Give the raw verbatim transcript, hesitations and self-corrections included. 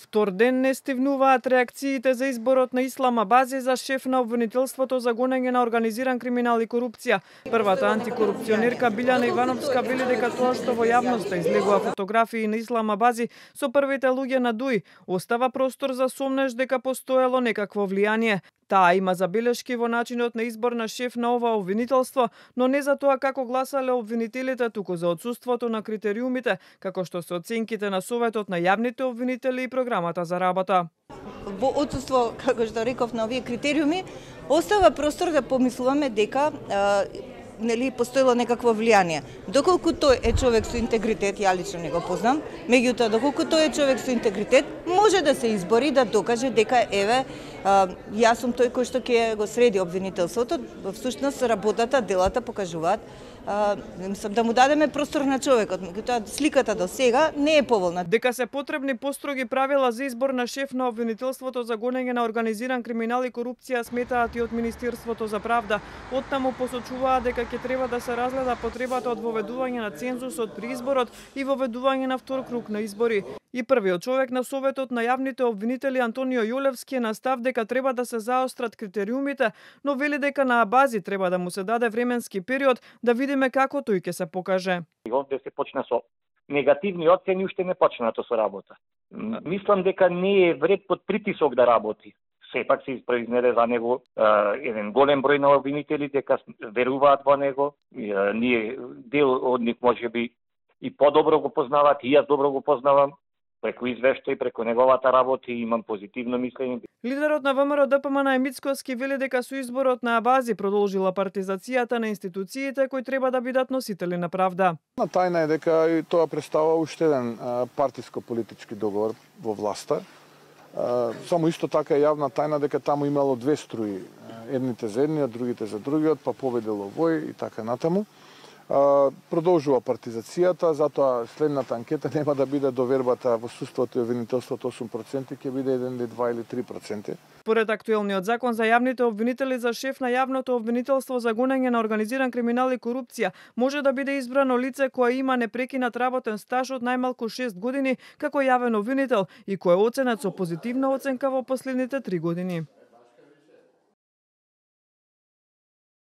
Втор ден не стивнуваат реакциите за изборот на Ислам Абази за шеф на обвинителството за гонење на организиран криминал и корупција. Првата антикорупционерка Билјана Ивановска вели дека тоа што во јавноста излегува фотографии на Ислам Абази со првите луѓе на ДУИ остава простор за сомнеш дека постоело некакво влијание. Таа има забелешки во начинот на избор на шеф на ова обвинителство, но не за тоа како гласале обвинителите, туку за отсуството на критериумите, како што се оценките на Советот на јавните обвинители и програмата за работа. Во отсуство, како што реков, на овие критериуми, остава простор да помислуваме дека а, нели постоело некакво влијание. Доколку тој е човек со интегритет, ја лично не го познам, меѓутоа доколку тој е човек со интегритет, може да се избори да докаже дека еве а, јас сум тој кој што ќе го среди обвинителството. Всушност работата, делата покажуваат а, мислам да му дадеме простор на човекот, меѓутоа сликата до сега не е поволна. Дека се потребни построги правила за избор на шеф на обвинителството за гонење на организиран криминал и корупција сметаат и од Министерството за правда. Оттаму посочуваат дека ќе треба да се разгледа потребата од воведување на цензусот при изборот и воведување на втор круг на избори. И првиот човек на Советот на јавните обвинители Антонио Јолевски е на став дека треба да се заострат критериумите, но вели дека на Абази треба да му се даде временски период да видиме како тој ќе се покаже. Овде се почна со негативни оцени, уште не почнато со работа. Мислам дека не е вред под притисок да работи. Сепак се произнеде за него е, еден голем број на обвинители дека веруваат во него. Е, ние дел од нив можеби и подобро го познаваат, и јас добро го познавам. Преку извештај, преку неговата работа имам позитивно мислење. Лидерот на ВМРО Д П М на Емицковски вели дека со изборот на Абази продолжила партизацијата на институциите кои треба да бидат носители на правда. На тајна е дека и тоа представува уште еден партиско-политички договор во власта. Само исто така е јавна тајна дека таму имало две струи, едните за едниот, другите за другиот, па победило вој и така натаму. Продолжува партизацијата, затоа следната анкета нема да биде довербата во суството и обвинителството осум проценти, ќе биде еден или два или три проценти. Според актуелниот закон за јавните обвинители за шеф на јавното обвинителство за гонење на организиран криминал и корупција може да биде избрано лице кое има непрекинат работен стаж од најмалку шест години како јавен обвинител и кој е оценет со позитивна оценка во последните три години.